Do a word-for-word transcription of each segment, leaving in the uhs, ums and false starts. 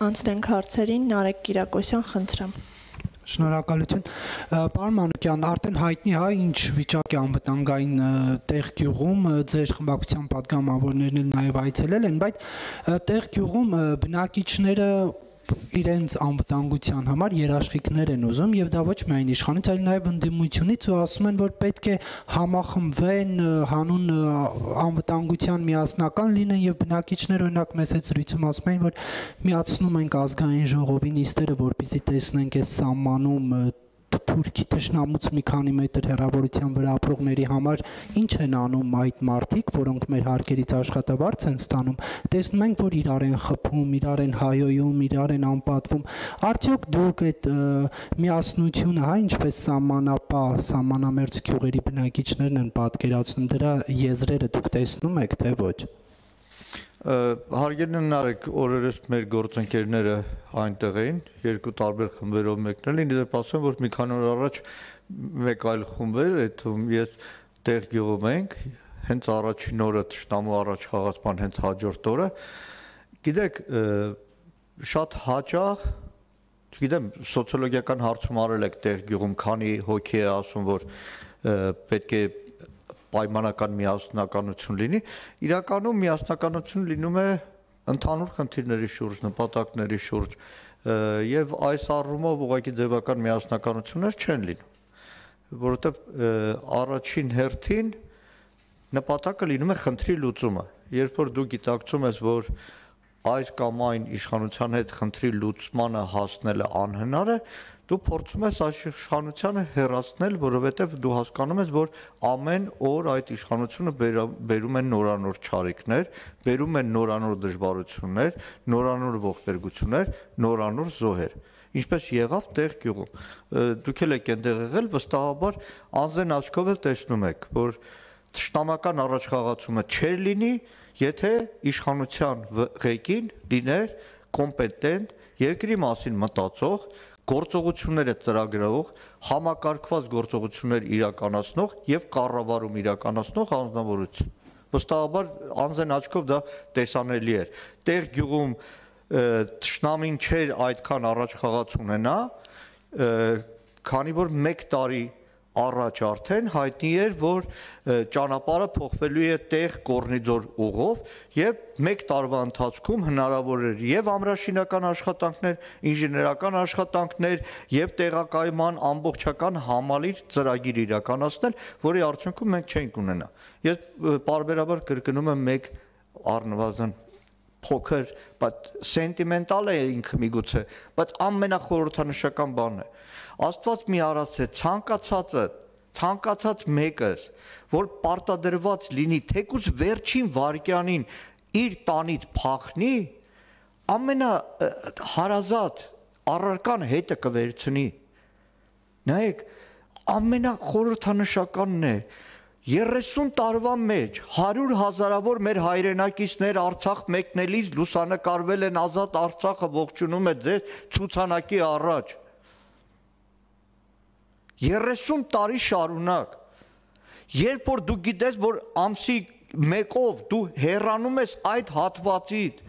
անցնենք հարցերին, Նարեկ Կիրակոսյան, խնդրեմ։ Շնորհակալություն։ Պարոն Մանուկյան, արդեն հայտնի է ինչ վիճակ է անվտանգային տեղ գյուղում, ձեր խմբակցության պատգամավորներն էլ նաև այցելել են, բայց տեղ գյուղում բնակիչները իրենց անվտանգության համար երաշխիքներ են ուզում եւ դա ոչ միայն իշխանից, այլ նաեւ ընդդիմությունից ու ասում են, որ պետք է համախմբվեն, հանուն անվտանգության միասնական լինեն եւ բնակիչներ օրինակ մեծ այդ զրույցում ասում են, որ միացնում ենք ազգային ժողովի նիստերը, որպեսզի տեսնենք այս սահմանում Թուրքի թշնամուց մի քանի մետր հեռավորության վրա ապրողների համար ինչ են անում այդ մարդիկ, որոնք մեր հարկերից աշխատավարձ են ստանում, տեսնում ենք, որ իրար են խփում, իրար են հայոյում, իրար են անպատվում, արդյոք դուք այդ միասնությունը, հա, ինչպես սահմանապահ, սահմանամերձ գյուղերի բնակիչներն են պատկերացնում, դրա եզրերը դուք տեսնում եք, թե ոչ։ Հարգելի Նարեկ, օրերս մեր գործընկերները այնտեղ էին, երկու տարբեր խմբերով մեկնել, ինձ դեպ ասեմ, որ մի քանի օր առաջ մեկ այլ խումբ էր, այդում ես տեղ գյուղում ենք, հենց առաջին օրը թշնամու առաջ խաղացման հենց հաջորդ օրը, գիտեք, շատ հաճախ, չգիտեմ, սոցիոլոգիական հարցում արել եք տեղ գյուղում, քանի հոգի է ասում, որ պետք է պայմանական միասնականություն լինի, իրականում միասնականություն լինում է ընդհանուր խնդիրների շուրջ, նպատակների շուրջ եւ այս առումով ուղղակի ձևական միասնականություններ չեն լինում, որովհետեւ առաջին հերթին նպատակը լինում է խնդրի լուծումը, երբ որ դու գիտակցում ես, որ այս կամ այն իշխանության հետ խնդրի լուծմանը հասնելը անհնար է, դու փորձում ես այս իշխանությանը հեռացնել, որովհետև դու հասկանում ես, որ ամեն օր այդ իշխանությունը բերում է նորանոր չարիքներ, բերում է նորանոր դժվարություններ, նորանոր ողբերգություններ, նորանոր զոհեր։ Ինչպես եղավ տեղ գյուղում։ Դուք էլ եք այնտեղ եղել, վստահաբար անձեն աչքով էլ տեսնում եք, որ թշնամական առաջխաղացումը չէր լինի, եթե իշխանության ղեկին լիներ կոմպետենտ, երկրի մասին մտածող, գործողությունները ծրագրող, համակարգված գործողություններ իրականացնող եւ կառավարում իրականացնող անձնավորություն։ Վստահաբար անձեն աչքով դա տեսանելի էր։ Տեղ գյուղում թշնամին չէր այդքան առաջխաղաց ունենա, քանի որ մեկ տարի առաջ արդեն հայտնի էր, որ ճանապարհը փոխվելու է տեղ Կորնիձոր ուղով եւ մեկ տարվա ընթացքում հնարավոր էր եւ ամրաշինական աշխատանքներ, ինժեներական աշխատանքներ եւ տեղակայման ամբողջական համալիր ծրագիր իրականացնել, որի արդյունքում մենք չենք ունենա։ Ես պարբերաբար կրկնում եմ մեկ առնվազն փոքր, բայց սենտիմենտալ է ինքը միգուցե, բայց ամենախորհրդանշական բանն է։ Աստված մի արած է ցանկացածը, ցանկացած մեկը, որ պարտադրված լինի թեկուզ վերջին վայրկյանին իր տանից փախնի, ամենա հարազատ առարկան հետը կվերցնի։ Նայեք, ամենախորհրդանշականն է, երեսուն տարվա մեջ հարյուր հազարավոր մեր հայրենակիցներ Արցախ մեկնելիս լուսանկարվել են Ազատ Արցախը ողջունում է ձեզ ցուցանակի առաջ։ երեսուն տարի շարունակ, երբ որ դու գիտես, որ ամսի մեկով դու հեռանում ես այդ հատվածից,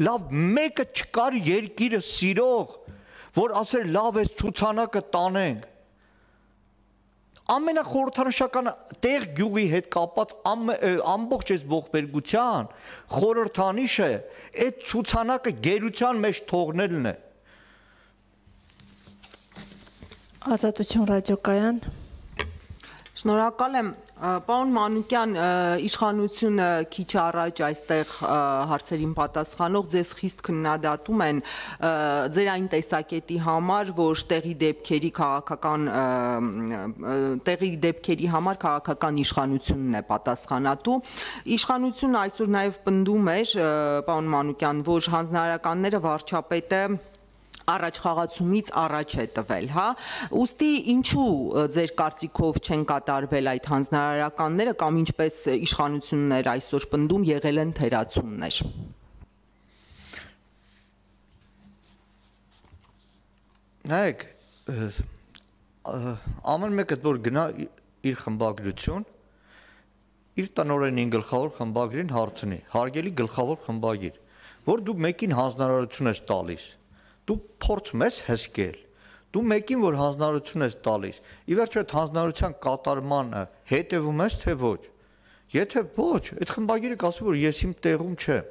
լավ մեկը չկար երկիրը սիրող, որ ասեր լավ ես ցուցանակը տանենք։ Ամենախորհրդանշական տեղ գյուղի հետ կապված ամբողջ այս ողբերգության խորհրդանիշը այդ ցուցանակը գերության մեջ թողնելն է։ Ազատություն ռադիոկայան։ Շնորհակալ եմ, պարոն Մանուկյան, իշխանությունը քիչ առաջ այստեղ հարցերին պատասխանող ձեզ խիստ քննադատում են ձեր այն տեսակետի համար, որ տեղի դեպքերի քաղաքական տեղի դեպքերի համար քաղաքական իշխանությունն է պատասխանատու։ Իշխանությունը այսօր նաև պնդում էր, պարոն Մանուկյան, որ հանձնարարականները վարչապետը առաջխաղացումից առաջ է տվել, հա, ուստի ինչու ձեր կարծիքով չեն կատարվել այդ հանձնարարականները կամ ինչպես իշխանություններ այսօր պնդում եղել են թերացումներ։ Նայեք, ամեն մեկը որ գնա իր խմբագրություն, իր տնօրենին գլխավոր խմբագրին հարցնի, հարգելի գլխավոր խմբագիր, որ դու մեկին հանձնարարություն ես տալիս, դու փորձում ես հսկել, դու մեկին որ հանձնարարություն ես տալիս, ի վերջո այդ հանձնարարության կատարմանը հետևում ես թե ոչ։ Եթե ոչ, այդ խմբագիրը կասի, որ ես իմ տեղում չեմ։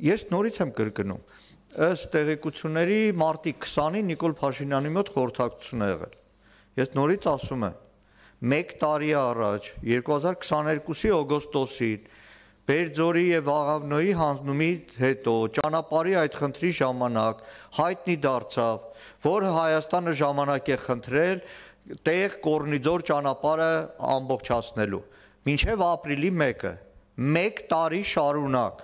Ես նորից եմ կրկնում, ըստ տեղեկությունների մարտի քսանին Նիկոլ Փաշինյանի մոտ խորհրդակցություն է եղել։ Ես նորից ասում եմ, մեկ տարի առաջ, երկու հազար քսաներկուսի օգոստոսին, Բերձորի եւ Աղավնոյի հանձնումից հետո ճանապարհի այդ խնդրի ժամանակ հայտնի դարձավ, որ Հայաստանը ժամանակ է խնդրել տեղ Կորնիձոր ճանապարհը ամբողջացնելու։ Մինչև ապրիլի մեկը, մեկ տարի շարունակ։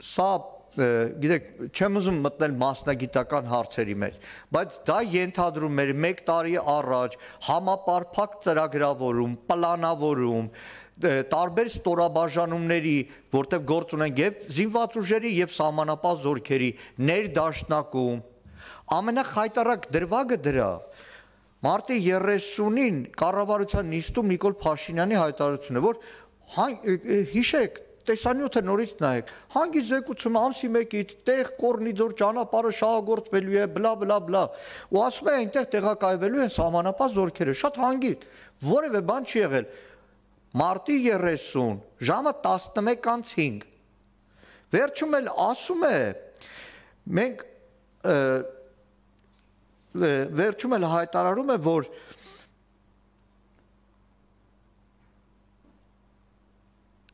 Սա գիտեք, չեմ ուզում մտնել մասնագիտական հարցերի մեջ, բայց դա ենթադրում էր մեկ տարի առաջ համապարփակ ծրագրավորում, պլանավորում, տարբեր ստորաբաժանումների, որտեղ գործ ունեն եւ զինված ուժերի եւ սահմանապահ զորքերի ներդաշնակում, ամենախայտարակ դրվագը դրա մարտի երեսունին կառավարության նիստում Նիկոլ Փաշինյանի հայտարարությունն է, որ հիշեք, տեսանյութը նորից նայեք, հանգի զեկուցում ամսի մեկից տեղ Կորնիձոր ճանապարհը շահագործվելու է, բլա բլա բլա, ու ասում է այնտեղ տեղակայվելու են սահմանապահ զորքերը, շատ հանգիստ, որևէ բան չի եղել։ Մարտի երեսուն, ժամը տասնմեկ անց հինգ, վերջում էլ ասում է, մենք վերջում էլ հայտարարում է, որ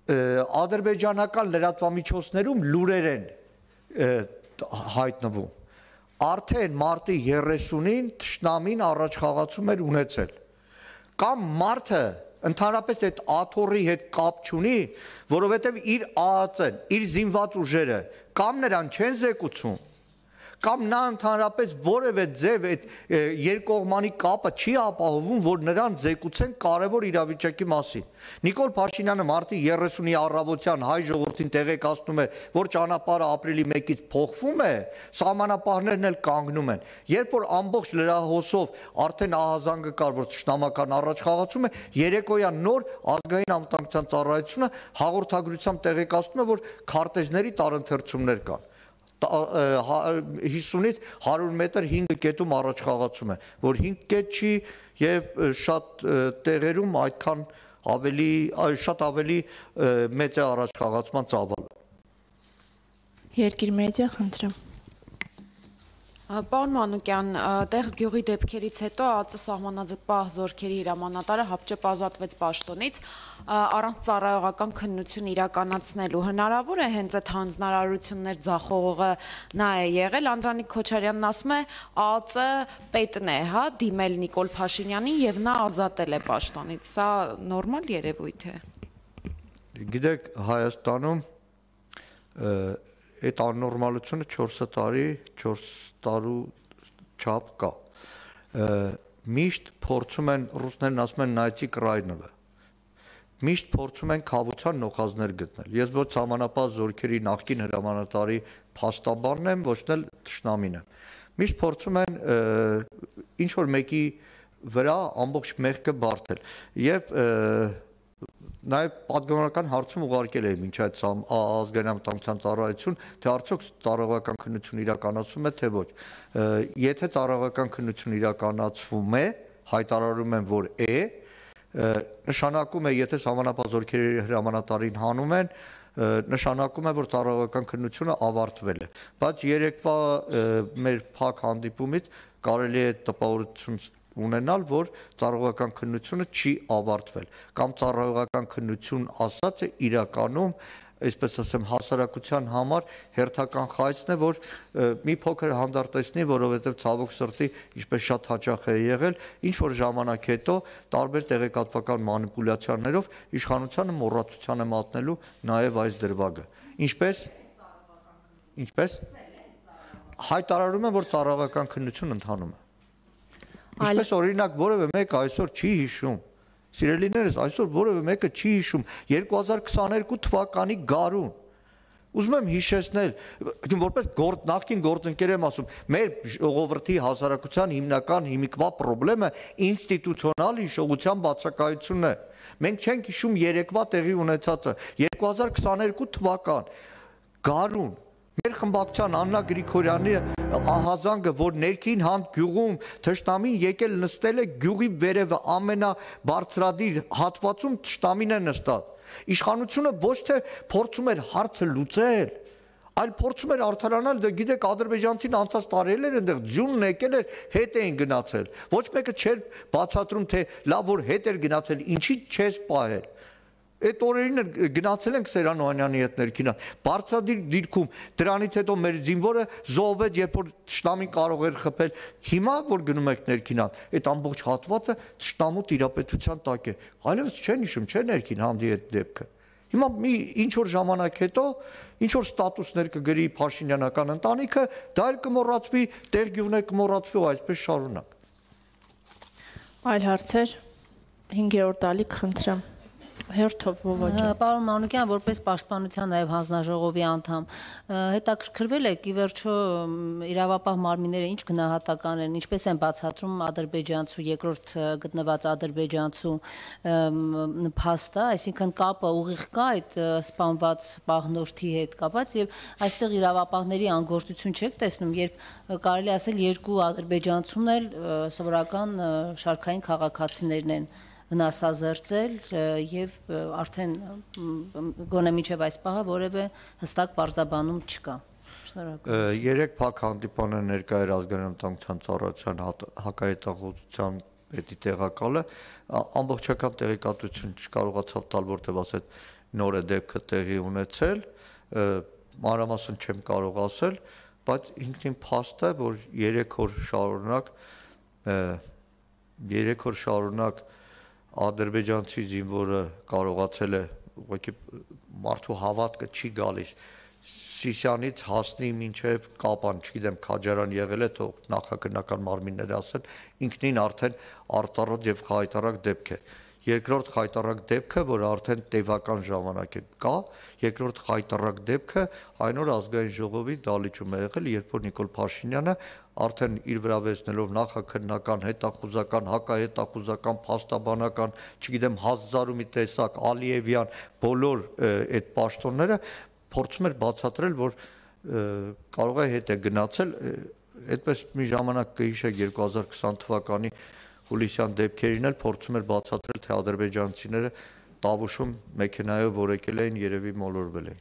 ադրբեջանական լրատվամիջոցներում լուրեր են հայտնվում, արդեն մարտի երեսունին թշնամին առաջխաղացում էր ունեցել, կամ մարդը ընդհանրապես այդ աթոռի հետ կապ չունի, որովհետև իր ԱԱԾ-ն, իր զինված ուժերը կամ նրան չեն զեկուցում, կամ նա ընդհանրապես որևէ ձև այդ երկկողմանի կապը չի ապահովում, որ նրան զեկուցեն կարևոր իրավիճակի մասին։ Նիկոլ Փաշինյանը մարտի երեսունի առավոտյան հայ ժողովրդին տեղեկացնում է, որ ճանապարհը ապրիլի մեկից փոխվում է, սահմանապահներն էլ կանգնում են։ Երբ որ ամբողջ լրահոսով արդեն ահազանգը կար, որ թշնամական առաջխաղացում է, երեկոյան նոր ազգային անվտանգության ծառայությունը հաղորդագրությամբ տեղեկացնում է, որ քարտեզների տարընթերցումներ կան։ հիսունից հարյուր մետր հինգ կետում առաջխաղացում է, որ հինգ կետ չի եւ շատ տեղերում այդքան ավելի շատ ավելի մեծ է առաջխաղացման ծավալը։ Երկիր մեդիա, խնդրեմ։ Պարոն Մանուկյան, տեղ գյուղի դեպքերից հետո ԱԱԾ սահմանապահ զորքերի հրամանատարը հապճեպ ազատվեց պաշտոնից առանց ծառայողական քննություն իրականացնելու։ Հնարավոր է հենց այդ հանձնարարություններ ձախողողը նա է եղել։ Անդրանիկ Քոչարյանն ասում է ԱԱԾ պետն է, հա, դիմել Նիկոլ Փաշինյանին եւ նա ազատել է պաշտոնից։ Սա նորմալ երևույթ է։ Գիտեք, Հայաստանում այդ աննորմալությունը չորս տարի, չորս տարու չափ կա։ Միշտ փորձում են, ռուսներն ասում են նայեցի կրայնովը։ Միշտ փորձում են քավության նոխազներ գտնել։ Ես ոչ սահմանապահ զորքերի նախկին հրամանատարի փաստաբանն եմ, ոչ էլ թշնամին եմ։ Միշտ փորձում են ինչ որ մեկի վրա ամբողջ մեղքը բարթել։ Եվ նաև պատգամավորական հարցում ուղարկել է մինչ այդ ազգային անվտանգության ծառայություն, թե արդյոք ծառայողական քննություն իրականացվում է, թե ոչ։ Եթե ծառայողական քննություն իրականացվում է, հայտարարում են, որ է, նշանակում է, եթե սահմանապահ զորքերի հրամանատարին հանում են, նշանակում է, որ ծառայողական քննությունը ավարտվել է։ Բայց երեկվա մեր փակ հանդիպումից կարելի է տպավորություն ունենալ, որ ծառայողական քննությունը չի ավարտվել, կամ ծառայողական քննություն ասած է իրականում, այսպես ասեմ, հասարակության համար հերթական խայծն է, որ մի փոքր հանդարտեցնի, որովհետև ցավոք սրտի, ինչպես շատ հաճախ է եղել, ինչ որ ժամանակ հետո տարբեր տեղեկատվական մանիպուլյացիաներով իշխանությանը մոռացության է մատնելու նաև այս դրվագը։ Ինչպես Ինչպես հայտարարում են, որ ծառայողական քննություն ընթանում է։ Ինչպես օրինակ որևէ մեկը այսօր չի հիշում, սիրելիներս, այսօր որևէ մեկը չի հիշում երկու հազար քսաներկու թվականի գարուն։ Ուզում եմ հիշեցնել, որպես նախկին գործընկեր եմ ասում, մեր ժողովրդի հասարակության հիմնական հիմիկվա խնդրեմը ինստիտուցիոնալ հիշողության բացակայությունն է։ Մենք չենք հիշում երեկվա տեղի ունեցածը, երկու հազար քսաներկու թվական։ Գարուն մեր խմբակցության Աննա Գրիգորյանի ահազանգը, որ ներքին հանդ գյուղում թշնամին եկել նստել է գյուղի վերևը ամենաբարձրադիր հատվածում թշնամին է նստած։ Իշխանությունը ոչ թե փորձում էր հարցը լուծել, այլ փորձում էր արդարանալ, դե գիտեք ադրբեջանցին անցած տարիներ այնտեղ ձյունն եկել էր, հետ էին գնացել։ Ոչ մեկը չէր բացատրում, թե լավ որ հետ էր գնացել, ինչի չես պահել։ Այդ օրերին գնացել ենք Սերան Օհանյանի հետ ներքինա, բարձրադիր դիրքում, դրանից հետո մեր զինվորը զոհվեց, երբ որ թշնամին կարող էր խփել, հիմա որ գնում եք ներքինա, այդ ամբողջ հատվածը թշնամու տիրապետության տակ է, այլևս չեն հիշում, չէ ներքին հանդի այդ դեպքը։ Հիմա մի ինչ որ ժամանակ հետո, ինչ որ ստատուսներ կգրի Փաշինյանական ընտանիքը, դա էլ կմոռացվի, տեղ գյուղն է կմոռացվի ու այսպես շարունակ։ Այլ հարցեր, հինգերորդ ալիք խնդրեմ։ Հերթով ովոճը։ Պարոն Մանուկյան, որպես պաշտպանության նաև հանձնաժողովի անդամ, հետաքրքրվել եք ի վերջո իրավապահ մարմինները ինչ գնահատական են, ինչպես են բացատրում ադրբեջանցու երկրորդ գտնված ադրբեջանցու փաստը, այսինքն կապը ուղիղ կա այդ սպանված պահնորդի հետ կապված եւ այստեղ իրավապահների անգործություն չեք տեսնում, երբ կարելի ասել երկու ադրբեջանցուն էլ սովորական շարքային քաղաքացիներն են վնասազերծել եւ արդեն գոնե միջև այս պահը որևէ հստակ պարզաբանում չկա։ Շնորհակալ։ Երեք փակ հանդիպանը ներկա էր ազգային անվտանգության ծառայության հակահետախուզության պետի տեղակալը, ամբողջական տեղեկատվություն չկարողացավ տալ, որտեղ ասել նոր է դեպքը տեղի ունեցել, մանրամասն չեմ կարող ասել, բայց ինքնին փաստ է, որ երեք օր շարունակ երեք օր շարունակ ադրբեջանցի զինվորը կարողացել է ուղղակի մարդու հավատքը չի գալիս Սիսյանից հասնի մինչև Կապան, չգիտեմ Քաջարան եղել է, թող նախագնական մարմինները ասեն, ինքնին արդեն արտառոտ եւ խայտարակ դեպք է։ Երկրորդ խայտարակ դեպքը, որ արդեն տևական ժամանակ է կա, երկրորդ խայտարակ դեպքը այն օր ազգային ժողովի դալիճում է եղել, երբ որ Նիկոլ Փաշինյանը արդեն իր վրա վերցնելով նախաքննական, հետախուզական, հակահետախուզական, փաստաբանական, չգիտեմ Հազարումի տեսակ, Ալիևյան, բոլոր այդ պաշտոնները փորձում էր բացատրել, որ կարող է հետ է գնացել, այդպես մի ժամանակ կհիշեք երկու հազար քսան թվականի հուլիսյան դեպքերին էլ փորձում էր բացատրել, թե ադրբեջանցիները Տավուշում մեքենայով որ եկել էին, երևի մոլորվել էին։